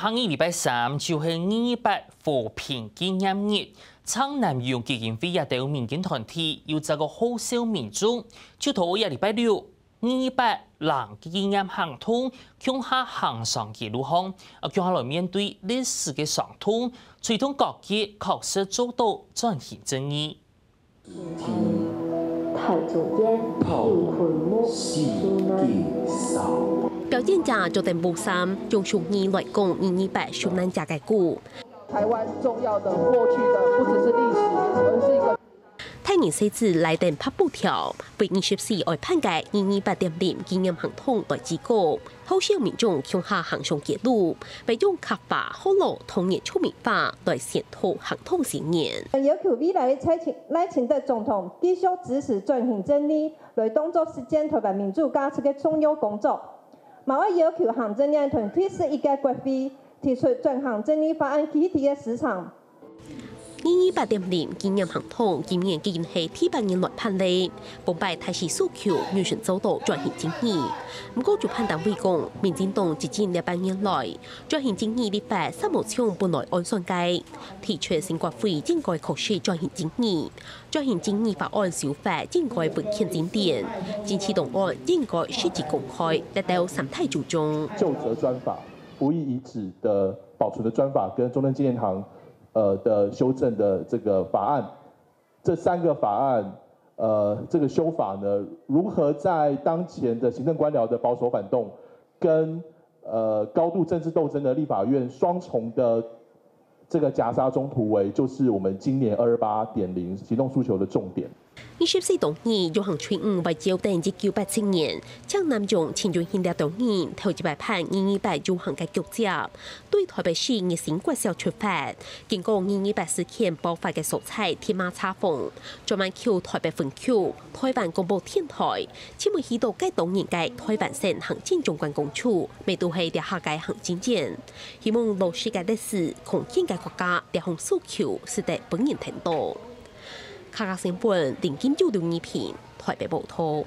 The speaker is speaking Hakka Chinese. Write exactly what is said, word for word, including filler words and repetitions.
下日禮拜三就係二二八和平紀念日，撐南洋基金會這兜民間團體又再過號召民眾，就在這禮拜六，二二八零紀念行動，共下行上街路項，啊，共下來面對歷史个傷痛，推動各界確實做到轉型正義。 太祖殿，太祖殿，四季掃。表演者著等布衫，用俗語來講二二八受難者个苦。台灣重要的過去的，不只是歷史，而是一個。大人細子拉等拍布條，為二十四愛辦个二二八點零紀念行動來致告。 號召民眾共下行上街路，會用客話、學老、童年、著名話來宣導行動宣言。要求未來个賴清德總統繼續支持轉型正義，來當作實踐台灣民主價值个重要工作。嘛愛要求行政院同第十一屆國會提出轉型正義法案具體个時程。 二二八點零紀念行動今年已經係第八年來辦理，本擺大勢訴求，有心做到轉型正義。毋過主辦單位講，民進黨執政這八年來，轉型正義立法煞無像本來按算个，提出新國會應該確實轉型正義，轉型正義法案修法應該文獻精典，政治檔案應該實質公開，這兜三大主張。究責專法、服役遺址的保存的專法跟中正紀念堂呃的修正的这个法案，这三个法案呃这个修法呢，如何在当前的行政官僚的保守反动跟呃高度政治斗争的立法院双重的这个夹杀中突围，就是我们今年二二八点零行动诉求的重点。 二十四同意遊行隊伍圍繞等一九八七年，將南洋陳雲興這兜人頭一擺辦二二八遊行个腳跡，對台北市日新國小出發，經過二二八事件爆發个所在天馬茶坊，轉彎去台北分局、台灣廣播電台，尋問許多該當年个台灣省行政長官公署，乜都係這下个行政院。希望老式个歷史、康健个國家這項訴求，使得本人聽到。 客家新聞林金友、劉義平台北報導。